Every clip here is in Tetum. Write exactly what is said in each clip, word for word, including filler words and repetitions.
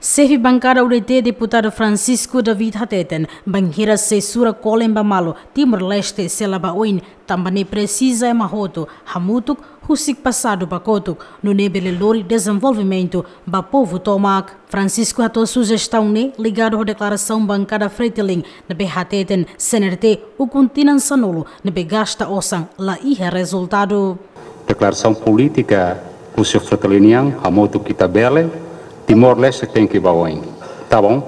Xefe bankada U D T, Deputadu Francisco David hateten, bainhira sei sura kolen ba malu, Timor-Leste sei la ba oin, tanba ne'e presiza ema hotu hamutuk, husik pasadu ba kotuk, nune'e bele lori dezenvolvimentu ba povu tomak. Francisco hato'o sujestaun ne'e ligadu ho deklarasaun bankada Fretilin ne'ebé hateten C N R T ukun tinan sanulu ne'ebé gasta osan la iha rezultadu. Deklarasaun polítika husi Fretilin nian, hamutuk ita bele, Timor-Leste tenke ba oin. Tá bom?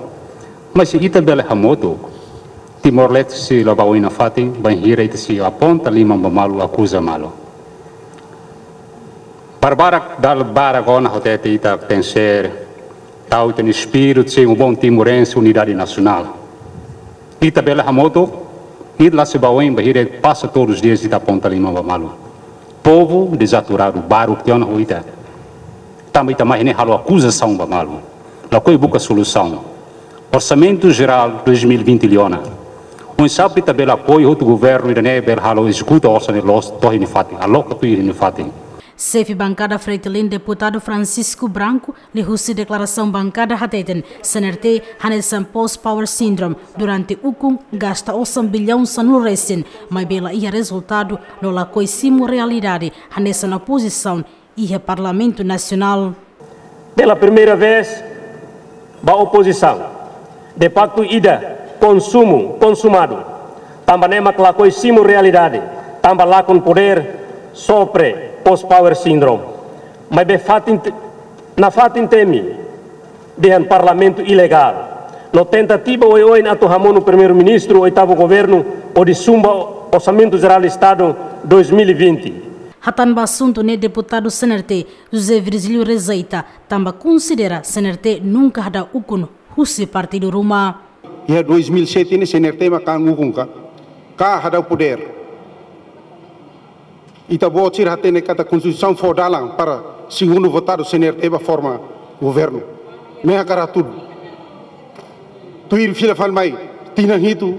Mas se ita bele hamutuk, Timor-Leste sei la ba oin nafatin, bainhira ita sei aponta liman ba malu, akuza malu. Barbarak dal barak ona hotu ita tenke ser, tau ita-nia espíritu, ser um bom timorense, unidade nacional. Ita bele hamutuk, ita la sei ba oin, bainhira pasa todos os dias ita aponta liman ba malu. Povu dezaturadu, baruk tiha ona ho ita. Tanba ita mai ne'e halo akuzasaun ba malu. Lakohi buka solusaun. Orsamentu Jerál dois mil e vinte liu ona. Oinsá ita bele apoiu hotu governu ida-ne'e bele halo ezekuta osan ne'e loos to'o iha nia fatin, aloka tuir iha nia fatin. Xefe bankada Fretilin, Deputadu Francisco Branco, liuhusi deklarasaun bankada hateten, C N R T hanesan post power syndrome, durante ukun gasta osan billaun sanulu resin, maibé la iha rezultadu, no lakohi simu realidade, hanesan opozisaun iha Parlamentu Nasionál. Pela primeira vez, ba opozisaun. De facto, ida konsumu, konsumadu. Tanba ne'e mak lakohi simu realidade. Tanba lakon podér, sofre post power syndrome. Maibé fatin te-, nafatin temi dehan Parlamentu ilegál. No tentativa oioin atu hamonu Primeiru-Ministru, oitavu governu, hodi zumba Orsamentu Jerál Estadu dois mil e vinte. Hatán ba asuntu ne'e, Deputadu C N R T, José Virgílio, rejeita, tanba konsidera C N R T nunka hadau ukun husi partidu ruma. Iha dois mil e sete ne'e C N R T mak ukun ka, ka hadau podér. Ita-boot sira hatene katak Konstituisaun fó dalan para segundu votadu C N R T ba forma governu. Ne'e hakarak hatudu. Tuir fila fali mai tinan hitu,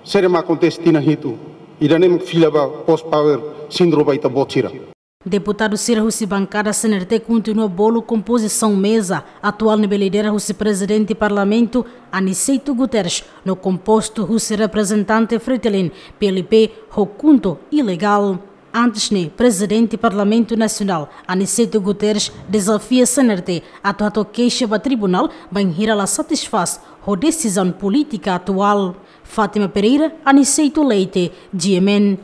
saida mak akontese tinan hitu. Ida-ne'e mak fila ba post power syndrome ba ita-boot sira. Deputadu sira husi bankada C N R T kontinua bolu kompozisaun meza atuál ne'ebé lidera husi Prezidente Parlamentu Aniceto Guterres, no kompostu husi reprezentante Fretilin, P L P, ho KHUNTO ilegál. Antes ne'e, Prezidente Parlamentu Nasionál, Aniceto Guterres, dezafia C N R T atu hato'o keixa ba tribunál bainhira la satisfás ho desizaun polítika atuál. Fátima Pereira, Aniceto Leite, G M N.